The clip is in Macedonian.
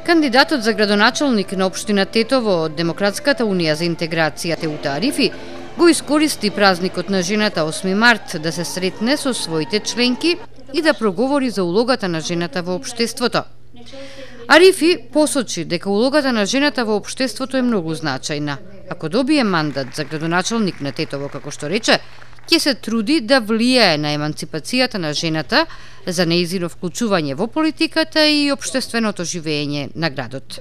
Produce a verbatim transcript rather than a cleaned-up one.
Кандидатот за градоначалник на општина Тетово од Демократската унија за интеграција Теута Арифи го искористи празникот на жената осми март да се сретне со своите членки и да проговори за улогата на жената во општеството. Арифи посочи дека улогата на жената во општеството е многу значајна. Ако добие мандат за градоначалник на Тетово, како што рече, ќе се труди да влијае на еманципацијата на жената, за нејзино вклучување во политиката и општественото живење на градот.